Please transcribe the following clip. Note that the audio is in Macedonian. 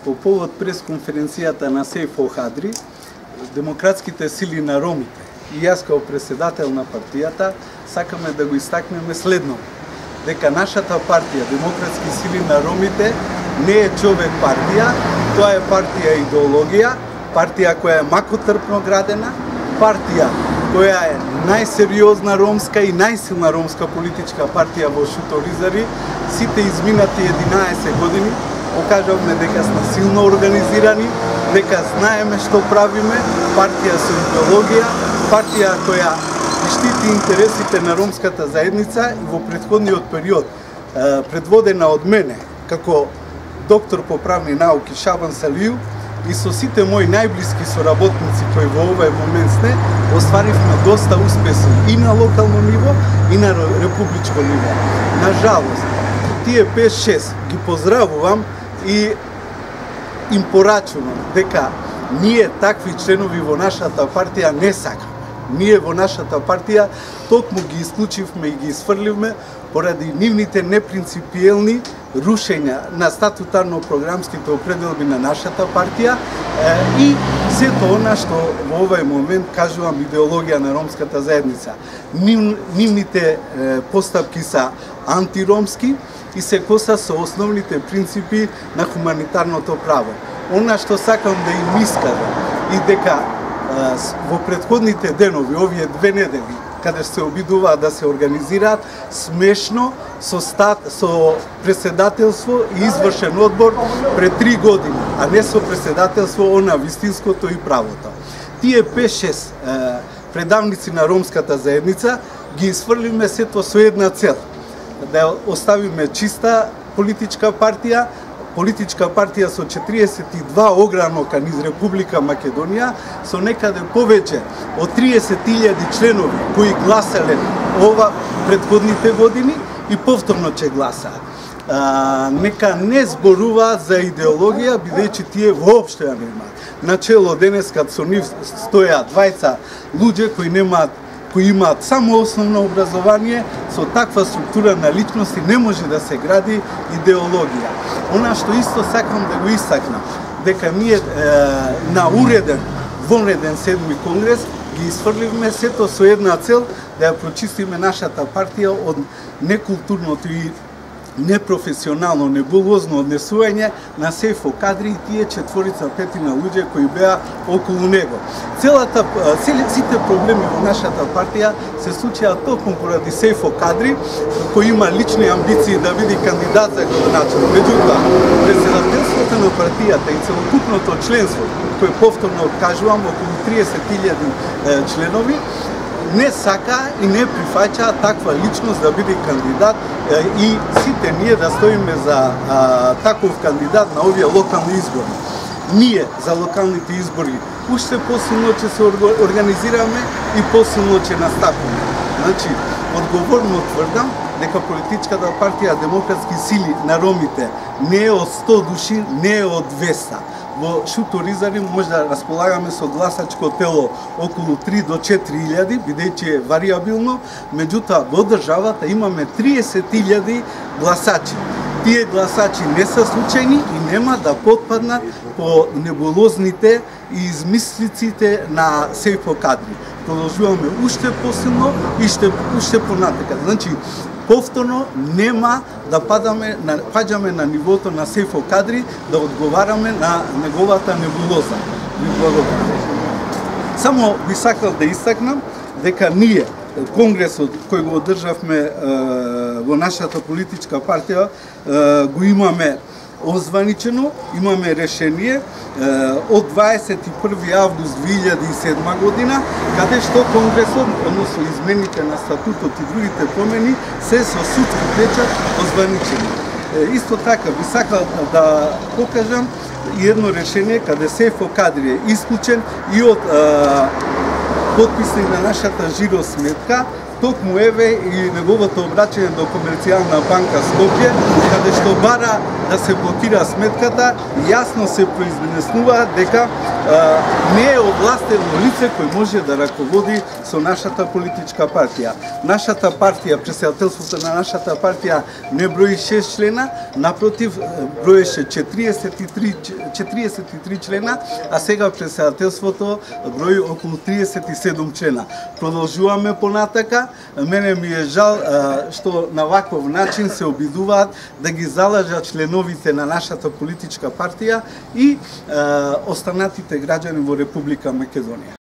по повод пресконференцијата на Сејфо Кадри, демократските сили на ромите и јас како председател на партијата сакаме да го истакнеме следно, дека нашата партија Демократски сили на ромите не е човек партија, тоа е партија идеологија, партија која е макотрпно градена, партија која е најсериозна ромска и најсилна ромска политичка партија во Шуторизари. Сите изминати 11 години покажавме дека сме силно организирани, дека знаеме што правиме, партија со идеологија, партија која штити интересите на ромската заедница и во претходниот период, предводена од мене, како доктор по правни науки Шабан Салију, и со сите мои најблиски соработници кои во овој момент сме, остваривме доста успеси и на локално ниво и на републичко ниво. На жалост, тие 5-6 ги поздравувам и им порачувам дека ние такви членови во нашата партија не сакаме. Ние во нашата партија токму ги исклучивме и ги исфрливме поради нивните непринципиелни рушења на статутарно-програмските определби на нашата партија и сето она што во овој момент кажувам идеологија на ромската заедница. Нивните постапки се антиромски и се коса со основните принципи на хуманитарното право. Она што сакам да им искажам и дека во претходните денови, овие 2 недели, каде се обидуваат да се организираат смешно со председателство и извршен одбор пред 3 години, а не со председателство на вистинското и правото. Тие 5-6 предавници на ромската заедница ги исфрлиме сето со една цел, да оставиме чиста политичка партија со 42 огранка низ Република Македонија, со некаде повеќе од 30.000 членови кои гласале ова претходните години и повторно ќе гласаат. Нека не зборуваат за идеологија, бидејќи тие воопшто ја немаат. Начело денеска со нив стојат двајца луѓе кои имаат само основно образование, со таква структура на личности не може да се гради идеологија. Она што исто сакам да го истакнам, дека ние на уреден, вонреден 7-ми конгрес ги исфрливме сето со една цел, да ја прочистиме нашата партија од некултурното и непрофесионално, небулозно однесување на Сејфо Кадри и тие 4-5 луѓе кои беа околу него. Сите проблеми во нашата партија се случија токму поради Сејфо Кадри, кој има лични амбиции да биде кандидат за градоначелник. Меѓутоа, председателството на партијата и целокупното членство, кој повторно откажувам, околу 30.000 членови, не сака и не прифаќа таква личност да биде кандидат и сите ние да стоиме за таков кандидат на овие локални избори. Ние за локалните избори уште посилно ќе се организираме и посилно ќе настапиме. Значи, одговорно тврдам дека политичката партија Демократски сили на ромите не е од 100 души, не е од 200. Во Шуторизари може да располагаме со гласачко тело околу 3 до 4.000, бидејќи е вариабилно, меѓутоа во државата имаме 30.000 гласачи. Тие гласачи не се случајни и нема да потпаднат по небулозните и измислиците на Сејфо Кадри. Продолжуваме уште посилно и уште понатака. Значи, повторно нема да паѓаме на нивото на Сејфо Кадри, да одговараме на неговата небулоза. Ви благодарам. Само би сакал да истакнам дека ние, конгресот кој го одржавме во нашата политичка партија, го имаме озваничено, имаме решение од 21. август 2007 година, каде што конгресот, односно измените на статутот и другите промени, се со судски печат озваничени. Исто така, би сакал да покажам едно решение каде Сејфо Кадри е исклучен и од подписник на нашата жиро сметка, токму еве и неговото обраќање до Комерцијална банка Скопје, каде што бара да се блокира сметката, јасно се произнесува дека не е овластено лице кој може да раководи со нашата политичка партија. Нашата партија, претседателството на нашата партија не брои 6 члена, напротив, броеше 43 члена, а сега претседателството брои околу 37 члена. Продолжуваме понатака. Мене ми е жал што на ваков начин се обидуваат да ги залажат членовите на нашата политичка партија и останатите граѓани во Република Македонија.